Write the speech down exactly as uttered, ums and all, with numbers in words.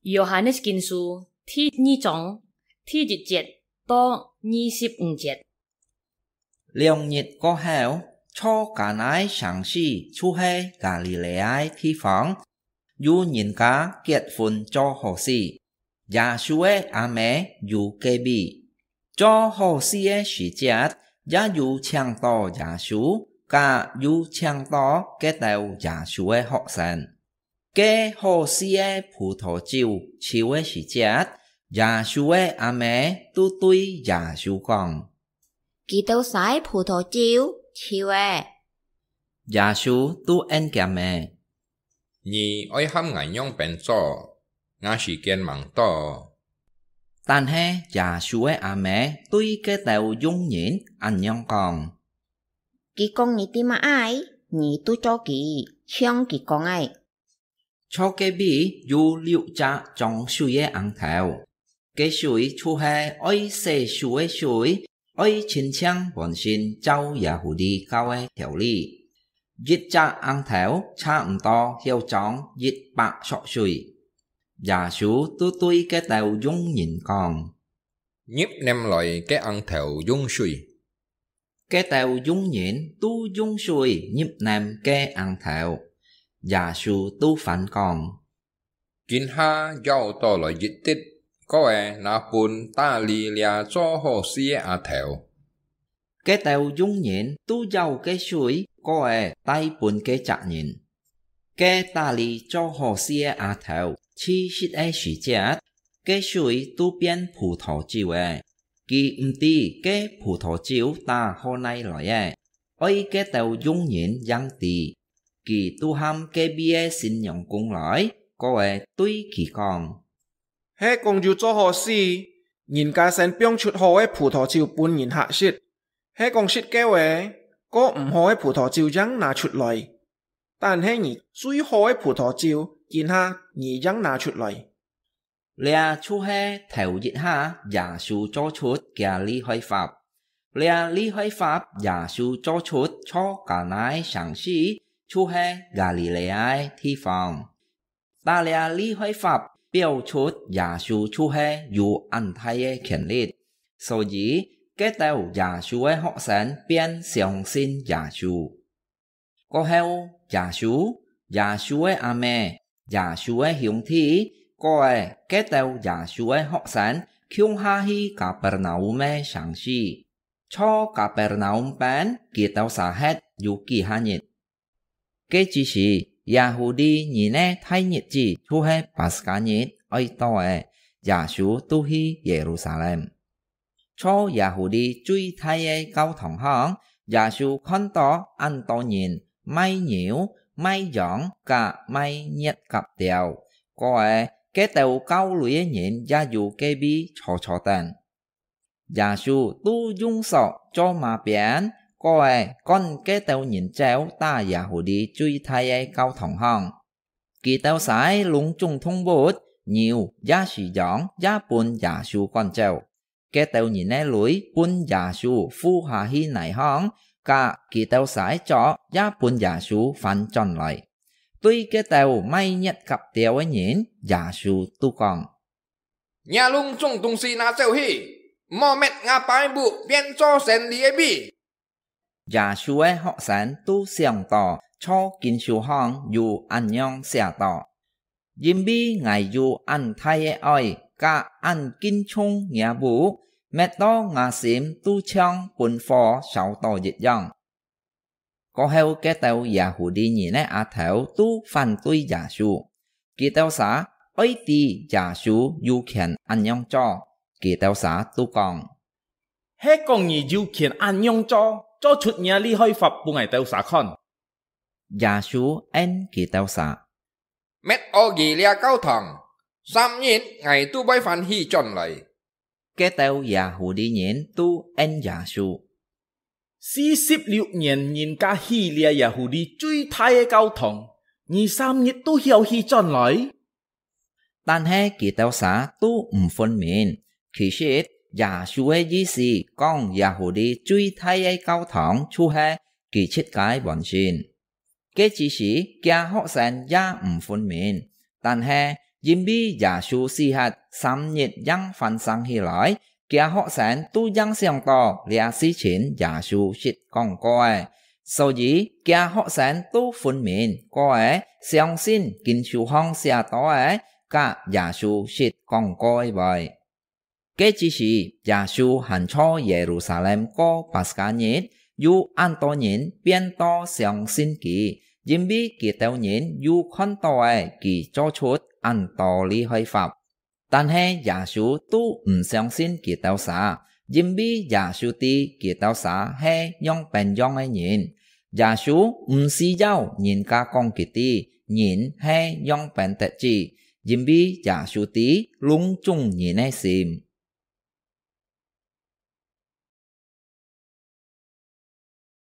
約翰个經書第二章第一節到二十五節。兩日過後，坐加拉城市，就係加利利亞个地方，有人家結婚做好事，耶穌个阿姆有該位。做好事个時節，也有請到耶穌，甲有請到該兜耶穌个學生。該好事个葡萄酒抽个時節，耶穌个阿姆都對耶穌講：「佢兜儕个葡萄酒抽咧。」耶穌都應佢兜：「你愛喊𠊎仰般做？𠊎時間吂到。」但係耶穌个阿姆對該兜用人恁樣講：「佢講你兜麼个，你都做佢，像佢講个。」坐該位有六隻裝水个甕頭，該水就係愛洗手个水，愛清淨本身，照耶穌教个條例。一隻甕頭差毋多曉裝一百索水。耶穌都對該兜用人講：「入淰來个甕頭用水。」該兜用人都用水入淰該甕頭。耶穌都反講：「今下舀倒來一滴，過仔拿分打理這做好事个阿頭。」該兜用人都舀該水，過仔帶分該隻人。該打理做好事个阿頭試食个時節，該水都變葡萄酒咧。佢毋知該葡萄酒打好哪來个，愛該兜用人正知。佢都喊該位个新娘工來，過仔對佢講：「係講有做好事，人家先放出好个葡萄酒分人客食，係講食夠咧，過毋好个葡萄酒正拿出來。但係你最好个葡萄酒，今下你正拿出來。」這就係頭一下耶穌做出厥利害法。這利害法耶穌做出坐加拉城市，就係加利利亞个地方。打這利害法表出耶穌就係有恁大个權力，所以該兜耶穌个學生便相信耶穌。過後，耶穌、耶穌个阿姆、耶穌个兄弟，過仔該兜耶穌个學生，共下去Kapernaum个城市。坐Kapernaum邊，佢兜儕歇有幾下日。該之時，Yahudi人个大日子，就係Paskah日，愛到咧，耶穌都去耶路撒冷。 坐Yahudi最大个教堂項，耶穌看到恁多人賣牛、賣羊甲賣月甲鳥，過仔該兜交稅个人也有該位坐坐等。耶穌都用索做馬鞭，過仔趕該兜人走打Yahudi最大个教堂項。佢兜儕个攏總動物、牛也係羊也分耶穌趕走。 該兜人个鐳分耶穌付下去泥項，甲佢兜儕个桌也分耶穌翻轉來。對該兜賣月甲鳥个人，耶穌都講：「若攏總東西拿走去，毋好搣吾爸个屋變做生理个位。」 耶穌个學生都想到坐經書項有恁樣寫到：「因為𠊎有恁大个愛，甲恁敬重吾屋，搣到吾心都像分火燒到一樣。」過後，該兜Yahudi人个阿頭都反對耶穌，佢兜儕愛知耶穌有權恁樣做，佢兜儕都講： 「係講你有權恁樣做，做出若利害法分𠊎兜儕看。」耶穌應佢兜儕：「搣烏佢這教堂，三日𠊎都會翻起轉來。」該兜Yahudi人都應耶穌：「四十六年人家起這Yahudi最大个教堂，你三日都曉起轉來？」 但係佢兜儕都毋分明。其實，耶穌个意思講Yahudi最大个教堂就係佢自家本身。該之時，厥學生也毋分明，但係因為耶穌死忒三日正翻生起來，厥學生都正想到這事情耶穌識講過个，所以厥學生都分明過个相信經書項寫到个，佮耶穌識講過个話。 該之時，耶穌還在耶路撒冷過巴斯加日，有恁多人變到相信佢，因為佢兜人有看到个佢做出恁多厲害法。但係耶穌都毋相信佢兜儕，因為耶穌知佢兜儕係仰般樣个人。耶穌毋需要人家講佢知人係仰般得志，因為耶穌知攏總人个心。